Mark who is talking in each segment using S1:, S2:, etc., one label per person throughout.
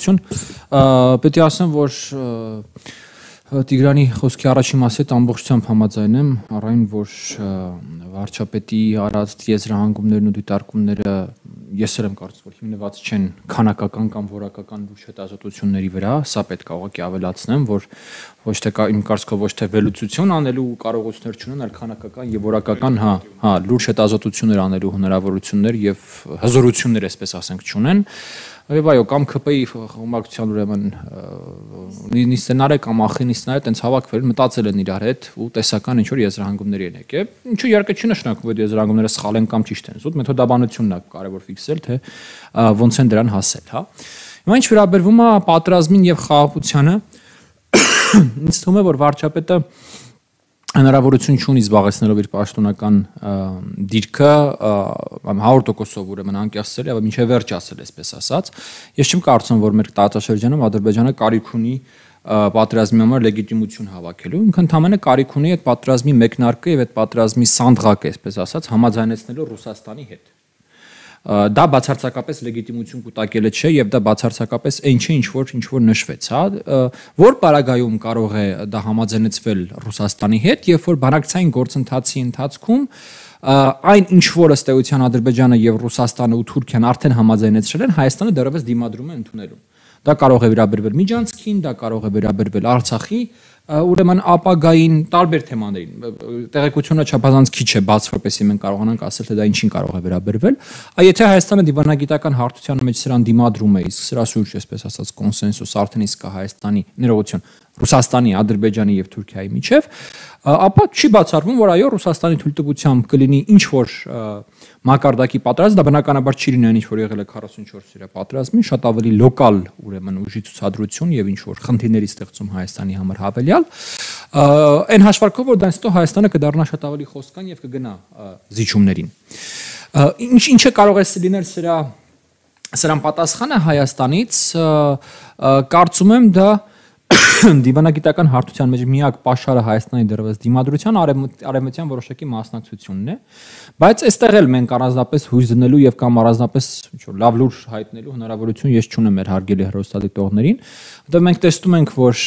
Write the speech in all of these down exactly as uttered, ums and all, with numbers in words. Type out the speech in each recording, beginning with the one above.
S1: շնորհակալություն։ Պետք է ասեմ, որ Տիգրանի խոսքի առաջին մասի հետ ամբողջությամբ համաձայն եմ, առայն որ վարչապետի արած եզրահանգումներն ու դիտարկումները ես էլ եմ կարծում, որ հիմնված չեն քանակական կամ որակական լուրջ հետազոտությունների վրա, սա պետք է ուղղակի ավելացնեմ, որ ոչ թե իմ կարծիքով ոչ թե վերլուծություն անելու կարողություններ չունեն, այլ քանակական եւ որակական, հա, հա, լուրջ հետազոտություններ անելու հնարավորություններ եւ հզորություններ, այսպես ասենք, չունեն։ Եվ այո, կամ ՔՊ-ի խմբակցության ուրեմն նիստենարը կամ ախինիստները տենց հավաքվել, մտածել են իրար հետ ու տեսական ինչ որ եզրահանգումների են եկել։ Ինչու իհարկե չի նշանակում, որ եզրահանգումները սխալ են կամ ճիշտ են, զուտ մեթոդաբանությունն է կարևոր ֆիքսել, թե ոնց են դրան հասել, հա։ Հիմա ինչ վերաբերվում է պատերազմին եւ խաղաղությանը, ինձ թվում է, որ վարչապետը հնարավորություն չունի զբաղեցնելով իր պաշտոնական դիրքը հարյուր տոկոսով ուրեմն անկեղծել եւ մինչեւ վերջ ասել, այսպես ասած։ Ես չեմ կարծում, որ մեր տարածաշրջանում Ադրբեջանը կարիք ունի պատերազմի համար լեգիտիմություն հավաքելու, ինքը ընդհանրապես կարիք ունի այդ պատերազմի մեկնարկը եւ այդ պատերազմի սանդղակը, այսպես ասած, համաձայնեցնելու Ռուսաստանի հետ։ Դա բացարձակապես լեգիտիմություն կուտակելը չէ եւ դա բացարձակապես այն չէ, ինչ որ ինչ որ նշվեց, հա, որ պարագայում կարող է դա համաձայնեցվել Ռուսաստանի հետ, երբ որ բանակցային գործընթացի ընթացքում այն ինչ որ ըստ էության Ադրբեջանը եւ Ռուսաստանը ու Թուրքիան արդեն համաձայնեցրել են, Հայաստանը դեռևս դիմադրում է ընդունելու։ Դա կարող է վերաբերվել Միջանցքին, դա կարող է վերաբերվել Արցախի ուրեմն ապագային տարբեր թեմաներին, տեղեկությունը չափազանց քիչ է բաց, որպեսզի մենք կարողանանք ասել, թե դա ինչին կարող է վերաբերվել։ Եթե Հայաստանը դիվանագիտական հարթության մեջ սրան դիմադրում է, իսկ սրա շուրջ, այսպես ասած, կոնսենսուս արդեն իսկ կա Հայաստանի, ներողություն, Ռուսաստանի, Ադրբեջանի եւ Թուրքիայի միջեւ, ապա չի բացառվում, որ այո, Ռուսաստանի թույլտվությամբ կլինի ինչ որ մակարդակի պատերազմ, դա բնականաբար չի լինի ինչ որ եղել է քառասունչորս օրյա պատերազմին, շատ ավելի լոկալ ուրեմն ուժի ցուցադրություն եւ ինչ որ խնդիրների ստեղծում Հայաստանի համար հավելյալ, այն հաշվարկով, որ դա ինստո Հայաստանը կդառնա շատ ավելի խոսքան եւ կգնա զիջումներին։ Ինչ ինչը կարող է լինել սրա սրան պատասխանը Հայաստանից, կարծում եմ դա դիվանագիտական հարթության մեջ միակ պաշարը Հայաստանի դեռևս դիմադրության արևմտյան որոշակի մասնակցությունն է, բայց այստեղ էլ մենք առանձնապես հույս դնելու եւ կամ առանձնապես ինչ որ լավ լուր հայտնելու հնարավորություն ես չունեմ մեր հարգելի հեռուստադիտողներին, որտեղ մենք տեսնում ենք, որ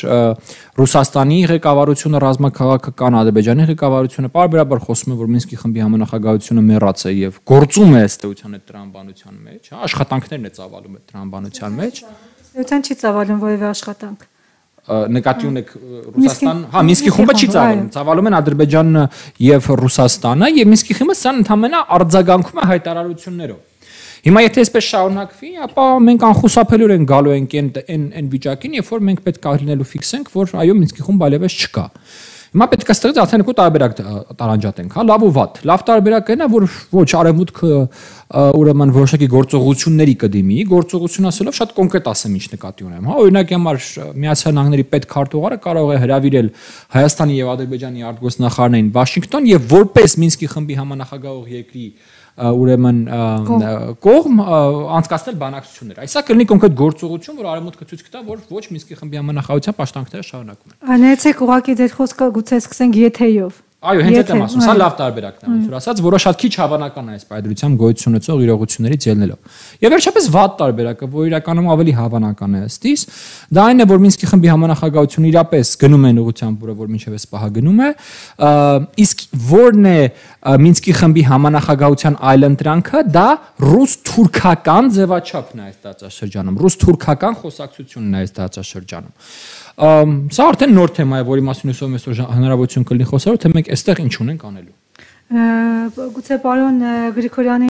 S1: Ռուսաստանի ղեկավարությունը, ռազմաքաղաքական Ադրբեջանի ղեկավարությունը պարբերաբար խոսում է, որ Մինսկի խմբի համանախագահությունը մեռած է եւ գործում է ըստ էության այդ տրամաբանության մեջ, հա, աշխատանքներն է ծավալում այդ տրամաբանության մեջ։
S2: Ըստ էության չի ծավալում որևէ աշխատանք։
S1: Նկատի ունեք Ռուսաստան, հա, Մինսկի խումբը չի ծավալում, ծավալում են Ադրբեջանն եւ Ռուսաստանը եւ Մինսկի խումբը սան ընդհանրապես արձագանքում է հայտարարություններով։ Հիմա եթե այսպես շարունակվի, ապա մենք անխուսափելիորեն են գալու ենք այն այն վիճակին, երբ որ մենք պետք է լինելու ֆիքսենք, որ այո, Մինսկի խումբը այլևս չկա։ Հիմա պետք է ստեղծել արդեն երկու տարբերակ տարանջատենք, հա, լավ ու վատ։ Լավ տարբերակն է, որ ոչ արևմուտքը ուրեմն որոշակի գործողությունների կդիմի, գործողություն ասելով շատ կոնկրետ ասեմ ինչ նկատի ունեմ, հա, օրինակի համար Միացյալ Նահանգների պետքարտուղարը կարող է հրավիրել Հայաստանի եւ Ադրբեջանի արտգործնախարարներին Վաշինգտոն եւ որպես Մինսկի խմբի համանախագահող երկրի ուրեմն կողմ անցկացնել բանակցություններ։ Այսա կլինի կոնկրետ գործողություն, որ արևմուտքը ցույց կտա, որ ոչ Մինսկի խմբի համանախագահության պաշտպանքները շարունակում են։
S2: Անեցեք ուղղակի ձեր խոսքը գուցե սկսենք եթեյով։
S1: Այո, հենց այդ եմ ասում, սա լավ տարբերակն է, ոնց որ ասած, որը շատ քիչ հավանական է այս պայդրությամբ գոյություն ունեցող իրողություններից ելնելով։ Եվ վերջապես վատ տարբերակը, որ իրականում ավելի հավանական է ըստիս, դա այն է, որ Մինսկի խմբի համանախագահությունը իրապես գնում են ուղղությամբ, որը որ մինչև այս պահը գնում է, իսկ որն է Մինսկի խմբի համանախագահության այլընտրանքը, դա ռուս-թուրքական ձևաչափն է այս տարածաշրջանում, ռուս-թուրքական խոսակցությունն է այս տարածաշրջանում։ Սա արդեն նոր թեմա է, որի մասին հուսով եմ այսօր հնարավորություն կլինի խոսալու, թե մենք այստեղ ինչ ունենք անելու։
S2: Գուցե պարոն Գրիգորյանի